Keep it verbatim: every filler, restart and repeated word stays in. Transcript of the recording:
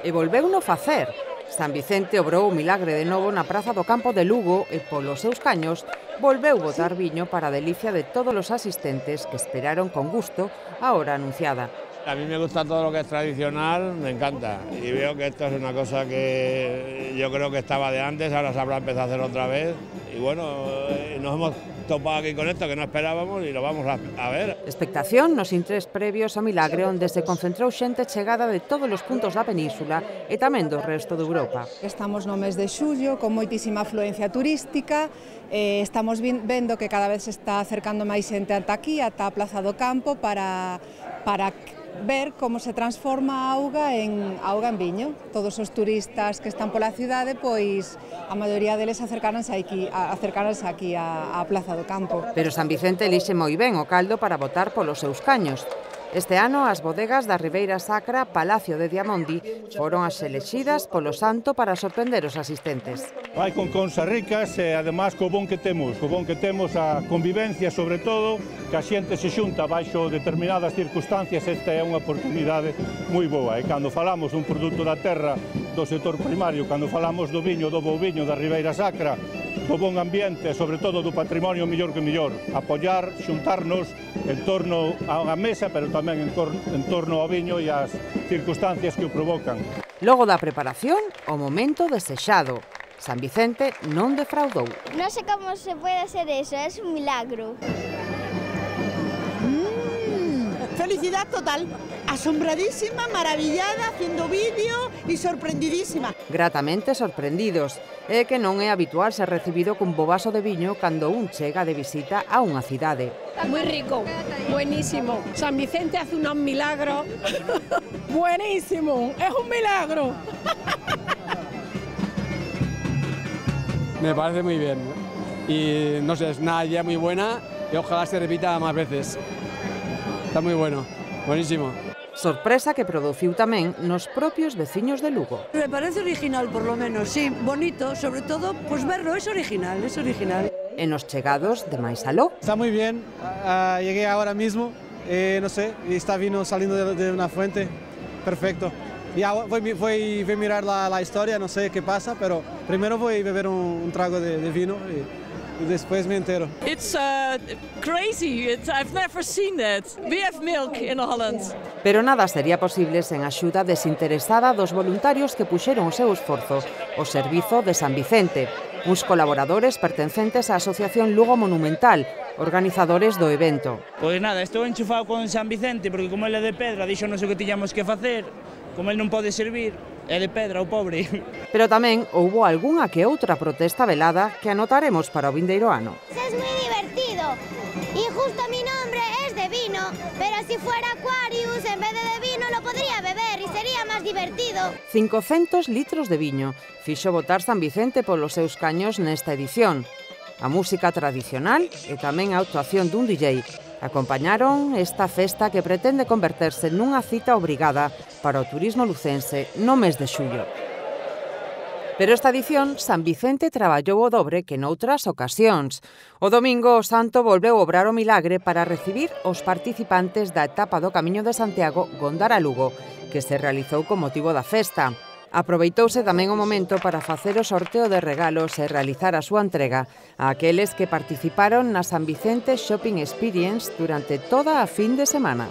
E volveuno facer. San Vicente obrou o milagre de novo na Praza do Campo de Lugo e polos seus caños volveu botar viño para a delicia de todos os asistentes que esperaron con gusto a hora anunciada. A mí me gusta todo lo que es tradicional, me encanta, y veo que esto es una cosa que yo creo que estaba de antes, ahora se habrá empezado a hacer otra vez, y bueno, nos hemos topado aquí con esto que no esperábamos y lo vamos a, a ver. Expectación nos intres previos ao milagre onde se concentrou xente chegada de todos os puntos da península e tamén do resto de Europa. Estamos no mes de xullo con moitísima afluencia turística, eh, estamos vendo que cada vez se está acercando máis xente ata aquí, ata a Plaza do Campo para, para ver como se transforma a auga en auga en viño. Todos os turistas que están pola cidade, pois a maioría deles acercaranse aquí, acercaranse aquí á, á Plaza do Campo. Pero San Vicente elixe moi ben o caldo para botar polos seus caños. Este ano as bodegas da Ribeira Sacra, Palacio de Diamondi, foron as elexidas polo santo para sorprender os asistentes. Vai con consas ricas e además co bon que temos, co bon que temos a convivencia sobre todo, que a xente se xunta baixo determinadas circunstancias, esta é unha oportunidade moi boa. E cando falamos dun produto da terra do sector primario, cando falamos do viño, do bo viño da Ribeira Sacra, do bon ambiente e sobre todo do patrimonio mellor que mellor, apoiar, xuntarnos en torno a unha mesa, pero tamén en, en torno ao viño e ás circunstancias que o provocan. Logo da preparación, o momento desexado. San Vicente non defraudou. Non sei como se pode hacer eso, é un milagro. Mm, felicidad total, asombradísima, maravillada, haciendo vídeo e sorprendidísima. Gratamente sorprendidos. É que non é habitual ser recibido cun bo vaso de viño cando un chega de visita a unha cidade. Muy rico, buenísimo. San Vicente hace un milagro. Buenísimo, es un milagro. Me parece muy bien y no sé, es una idea muy buena y ojalá se repita más veces. Está muy bueno, buenísimo. Sorpresa que produciu tamén nos propios veciños de Lugo. Me parece original, por lo menos, sí, bonito, sobre todo, pues verlo, es original, es original. En los chegados de máis aló. Está muy bien, uh, llegué ahora mismo, eh, no sé, y está vino saliendo de, de una fuente, perfecto. Ya voy, voy, voy a mirar la, la historia, no sé qué pasa, pero primero voy a beber un, un trago de, de vino y, y después me entero. It's uh, crazy. It's, I've never seen that. We have milk in Holland. Pero nada sería posible sen a axuda desinteresada dos voluntarios que puxeron o seu esforzo ao servizo de San Vicente, uns colaboradores pertencentes á Asociación Lugo Monumental, organizadores do evento. Pois nada, estou enchufado con San Vicente porque como ele é de Pedra, dixo non sei o que tiñamos que facer. Como ele non pode servir, é de Pedra, o pobre. Pero tamén houbo algunha que outra protesta velada que anotaremos para o vindeiro ano. Es moi divertido e justo mi nombre es de vino, pero si fuera Aquarius en vez de de vino lo podría beber e sería máis divertido. cincocentos litros de viño fixo botar San Vicente polos seus caños nesta edición. A música tradicional e tamén a actuación dun D J acompañaron esta festa que pretende converterse nunha cita obrigada para o turismo lucense no mes de xullo. Pero esta edición, San Vicente traballou o dobre que noutras ocasións. O domingo o santo volveu obrar o milagre para recibir os participantes da etapa do Camiño de Santiago Gondara-Lugo, que se realizou con motivo da festa. Aproveitouse tamén o momento para facer o sorteo de regalos e realizar a súa entrega a aqueles que participaron na San Vicente Shopping Experience durante toda a fin de semana.